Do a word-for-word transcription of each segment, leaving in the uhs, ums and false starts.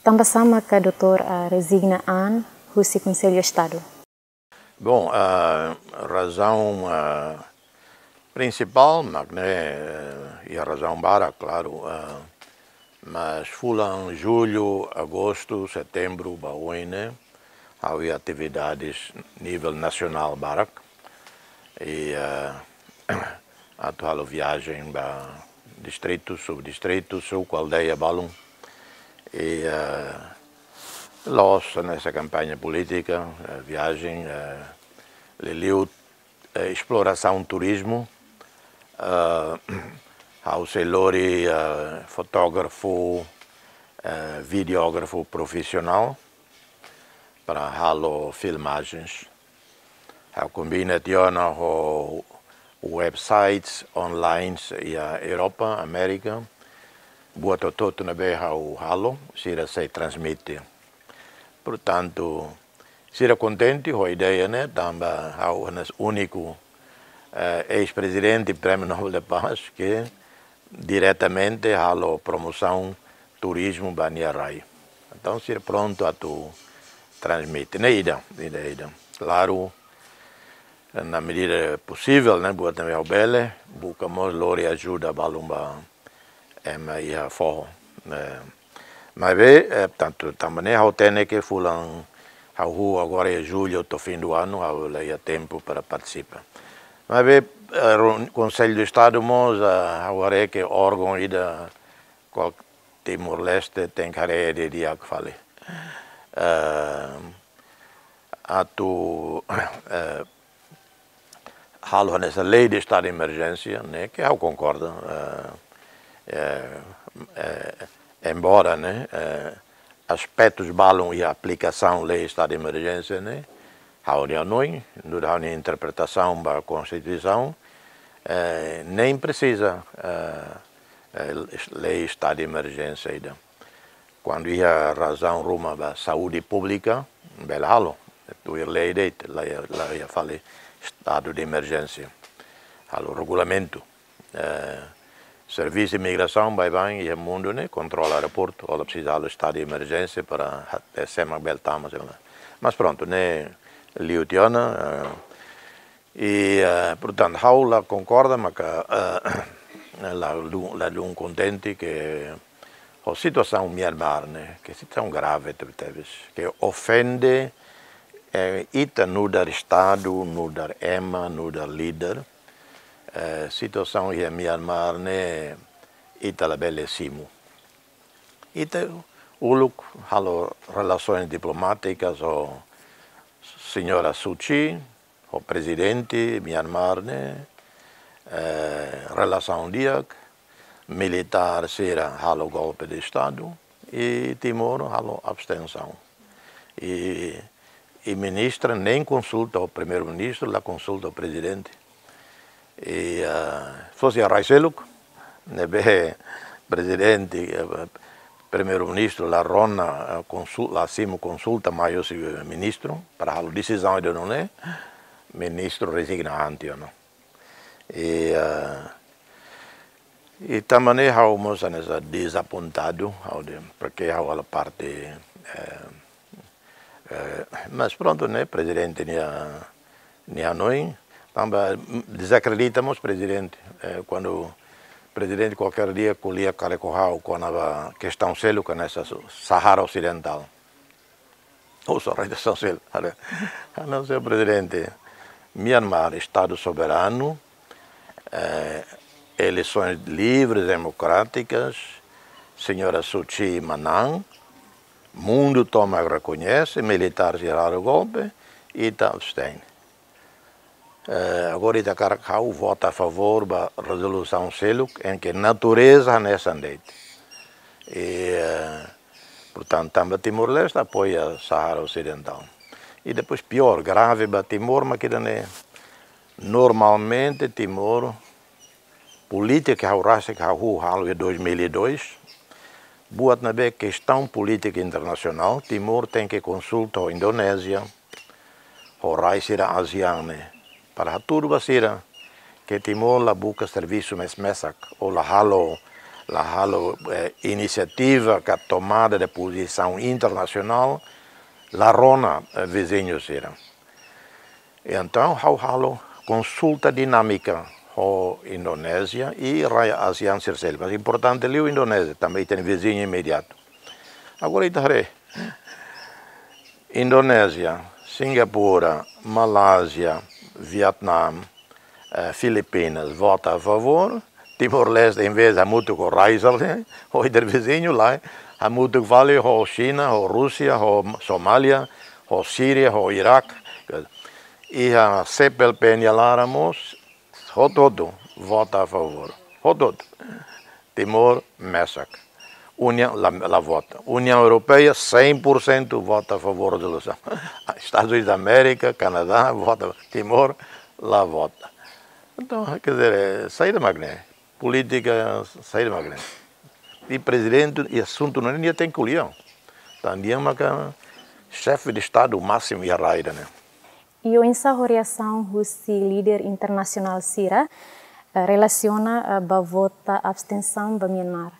Tanba sá maka doutór, ah, rezigna an husi Konsellu Estadu? Bom, a razaun, ah, prinsipál, mak ne'e, eh, iha razaun barak, klaru, ah, mas fulan jullu, agostu, setembru, ba oin ne'e, ha'u iha atividades nivel nasionál barak. I, ah, atu halo viajen ba distritu, subdistritu, suku, aldeia balun. I, ah, la'ós hanesan kampaña polítika, eh, viajen, eh, liuliu, eh, esplorasaun turizmu, eh, ha'u sei lori, eh, fotógrafu, eh, videógrafu profisionál para halo filmajens. Ha'u kombina tiha ona ho websites online iha Europa, Amérika, buat hotu-hotu ne'ebé ha'u halo, sira sei transmite. Portantu, sira kontente ho ideia ne'e, tanba ha'u hanesan úniku, eh, eis-prezidente Prémiu Nobel da Paz ke diretamente halo promosaun turizmu ba nia rai. Entaun, sira prontu atu transmite. Ne'e ida, ida, ida. Klaru, na medida posivel, ne'e, buat ne'ebé ha'u bele, buka mós lori ajuda balun ba ema iha foho. Eh, maibé, eh, tantu, tanba ne'e ha'u hatene ke fulan, ha'u hahú agora iha jullu to'o fim do ano, ha'u la iha tempu para partisipa. Maibé, eh, reun-, Konsellu Estadu mós, eh, ha'u haree ke órgaun ida kual Timor-Leste tenke haree didi'ak fali. Eh, atu, eh, halo hanesan lei de estadu de emerjénsia, ne'e, ke ha'u konkorda, eh, eh, eh, embora, ne'e, eh, aspetus balun iha aplikasaun lei estadu de emerjénsia ne'e, ha'u-nia hanoin, nu'udar ha'u-nia interpretasaun ba Konstituisaun, eh, nein presiza, eh, eh, lei estadu de emerjénsia ida. Kuandu iha razaun ruma ba saúde públika, bele halo, tuir lei de'it, la iha, la iha fali estadu de emerjénsia. Halo regulamentu. Eh, servisu imigrasaun baibain iha mundu ne'e kontrola aeroportu, la presiza halo estadu de emerjénsia para ha-, eh, sé mak bele tama, sei lá. Mas prontu, ne'e liu tiha ona, eh, i, eh, portantu, ha'u la konkorda, maka, eh, la lu-, ladún kontente ke ho situasaun Myanmar ne'e, ke situasaun grave tebetebes, ke ofende, eh, ita nu'udar Estadu, nu'udar ema, nu'udar líder, eh, situasaun iha Myanmar ne'e ita labele simu. Ita uluk halo relasoens diplomátikas ho señora Suu Kyi, ho prezidente Myanmar ne'e, eh, relasaun di'ak, militár sira halo golpe de estadu, i Timor halo abstensaun. I, i ministra nein konsulta ho primeiru-ministru, la konsulta ho prezidente. I, eh, fosi iha rai seluk, ne'ebé prezidente, eh, primeiru-ministru la rona, eh, konsul-, la simu konsulta mai husi ministru, para halo desizaun ida nune'e, ministru rezigna an tiha ona. I, eh, i tanba ne'e ha'u mós hanesan dezapontadu, ha'u dehan, porke ha'u halo parte, eh, eh, mas prontu, ne'e, prezidente nia, nia hanoin, tanba, mm, dezakredita mós prezidente, eh, kuandu prezidente kualkér dia ko'alia karik ho ha'u kona-ba kestaun seluk hanesan Sahara Osidentál. Ou só rei de São Sel. Halo, halo, señór prezidente, Myanmar, Estadu soberanu, eh, eleisoens livres, demokrátikas, señora Suu Kyi manán, mundu tomak rekoñese, militár sira halo golpe, ita abstein. Eh, agora ita hakarak ha'u vota a favór ba rezolusaun seluk, em que natureza hanesan de'it. I, eh, portantu, tanba Timor-Leste apoia Sahara Osidentál. I depois piór, grave ba Timor, mak ida-ne'e, normalmente Timor, polítika ha'u rasik hahú halo iha dois mil e dois, buat ne'ebé kestaun polítika internasionál, Timor tenke konsulta ho Indonézia, ho rai sira ASEAN ne'e, para hatudu ba sira ke Timor la buka servisu mes-mesak, ou la halo La halo, eh, inisiativa ka tomada de pozisaun internasionál, la rona, eh, viziñu sira. Entaun, ha'u halo konsulta dinámika ho Indonézia i rai ASEAN sira seluk. Mas importante liu Indonézia, tanba ita-nia viziñu imediatu. Agora ita haree, Indonézia, Singapura, Malázia, Vietnam, eh, Filipinas vota a favór, Timor-Leste, em vez hamutuk ho rai sira, ho ita-nia viziñu, lae, hamutuk fali ho Xina, ho Rúsia, ho Somália, ho Síria, ho Iraque. Iha CPLP nia laran mós, hotu-hotu vota a favór. Hotu-hotu. Timor mesak. Uniaun la, la vota. Uniaun Europeia cem por cento vota a favór rezolusaun. Estadus Unidos da Amérika, Kanadá vota. Timor la vota. Entaun, quer dizer, eh, saida mak ne'e? Polítika saida mak ne'e? I prezidente, i asuntu ne'e nia tenke ko'alia. Tanba nia maka xefe de Estadu másimu iha rai ida-ne'e. I oinsá ho reasaun husi líder internasionál sira, eh, relasiona, eh, ba vota abstensaun ba Myanmar?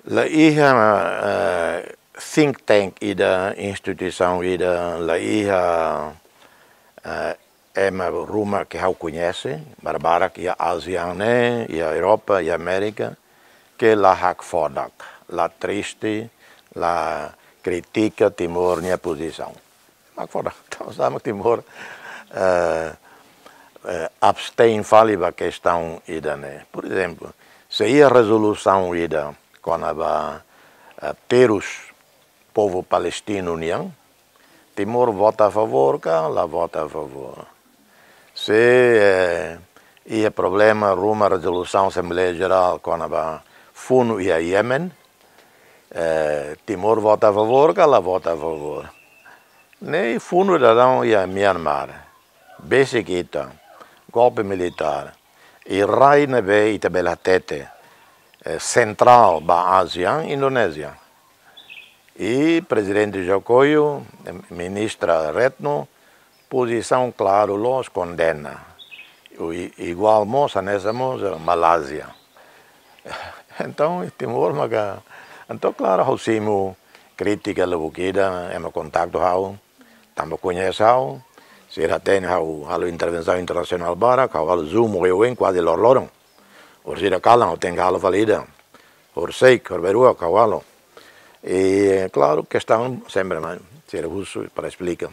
La iha, eh, think tank ida, instituisaun ida, la iha, eh, ema ruma ke ha'u koñese, barbarak iha ASEAN ne'e, iha Europa, iha Amérika, ke la hakfodak, la triste, la kritika Timor nia pozisaun. Hakfodak, entaun, sama Timor, eh, eh, abstein fali ba kestaun ida-ne'e. Por ezemplu, se iha rezolusaun ida kona-ba, eh, terus povu palestinu nian, Timor vota a favór ka la vota a favór? Se, eh, iha problema ruma rezolusaun Asembleia Jerál kona-ba funu iha Yemen, eh, Timor vota a favór ka la vota a favór? Ne'e funu daudaun iha Myanmar, besik ita, golpe militár, i rai ne'ebé ita bele hatete, eh, sentrál ba ASEAN, Indonézia. I prezidente Jokowi, eh, ministra Retno, pozisaun klaru loos, kondena. I, iguál mós, hanesan mós, eh, Malázia. Entaun, Timor maka, entaun, klaru, ha'u simu krítika lubuk ida, ema kontaktu ha'u, tanba koñese ha'u, sira hatene ha'u halo intervensaun internasionál barak, ha'u halo Zoom oioin kuaze loroloron. Orsida kalan ha'u tenke halo fali ida. Horisehik, horbaruak ha'u halo. I, klaru, kestaun sempre mai, sira husu para esplika.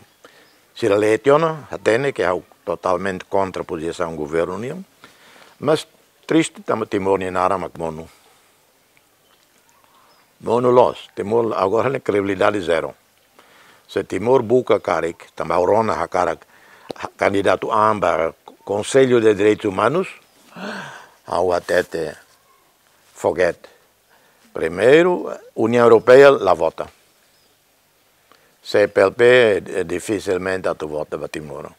Sira lee tiha ona, hatene ke ha'u totalmente kontra pozisaun governu nian. Mas triste tanba Timor nia naran mak monu. Monu loos, Timor agora ne'e kredibilidade zero. Se Timor buka karik, tanba ha'u rona hakarak ha-, kandidatu an ba Konsellu de Direitus Umanus, ha'u hatete, forget. Primeiru, Uniaun Europeia la vota. CPLP, eh, difisilmente atu vota ba Timor.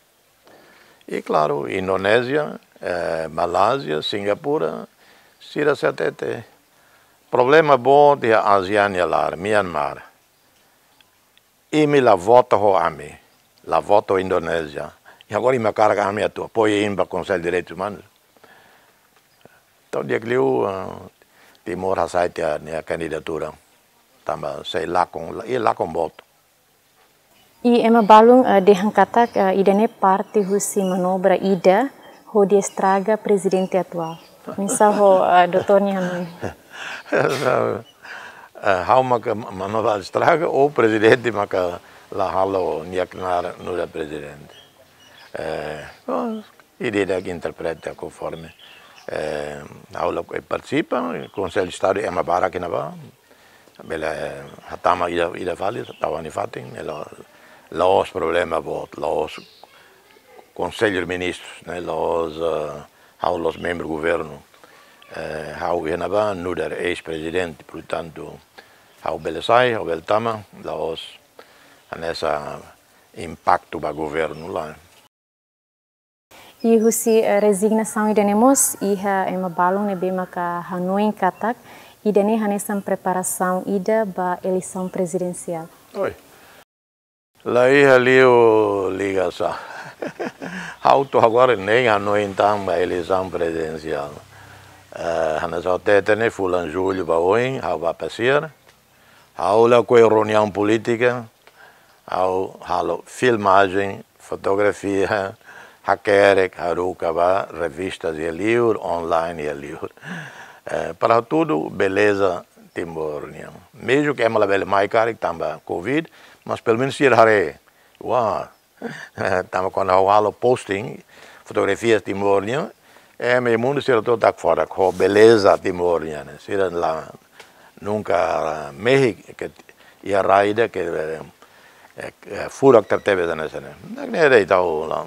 I klaru, Indonézia, eh, Malázia, Singapura, sira sei hatete. Problema boot iha ASEAN nia laran, Myanmar. Imi la vota ho ami, la vota ho Indonézia. I agora imi hakarak ami atu apoia imi ba Konsellu Direitus Umanus. Entaun di'ak liu, eh, Timor hasai tiha nia kandidatura. Tanba sei lakon, i lakon boot. I ema balun, eh, dehan katak, eh, ida-ne'e parte husi manobra ida hodi estraga prezidente atuál. Oinsá ho, eh, doutór nia hanoin? Eh, ha'u maka ma-, manobra estraga ou prezidente maka la halo nia knaar nu'udar prezidente? Eh, oh, ida-idak interpreta konforme. Eh, ha'u la partisipa, Konsellu Estadu ema barak iha ne'ebá. Bele, eh, hatama ida, ida fali, tau iha nia fatin, eh, la, la'ós problema boot, la'ós Konsellu Ministrus, ne'e, la'ós, eh, ha'u la'ós membru governu. Eh, ha'u iha ne'ebá nu'udar eis-prezidente, portantu, ha'u bele sai, ha'u bele tama, la'ós hanesan impaktu ba governu lae. I husi, eh, rezignasaun ida-ne'e mós, iha ema balun ne'ebé maka hanoin katak, ida-ne'e hanesan preparasaun ida ba eleisaun prezidensiál. Oi. La iha liu ligasaun. Ha'u to'o agora nein hanoin tan ba eleisaun prezidensiál. Eh, hanesan hateten ne'e, fulan jullu ba oin ha'u bá pasiar. Ha'u lakohi reuniaun polítika, ha'u halo filmajen, fotografia, hakerek, haruka ba revista iha liur, online iha liur. Eh, para hatudu beleza Timor nian. Mezmu ke ema labele mai karik tanba covid, mas pelumenus sira haree. Wah, tanba kuandu ha'u halo posting fotografia Timor nian, ema iha mundu sira to'o tak fora ho beleza Timor nian ne'e. Sira la nunka mehi ke iha rai ida ke, eh, eh, furak tebetebes hanesan ne'e. Entaun ne'e de'it, ha'u la,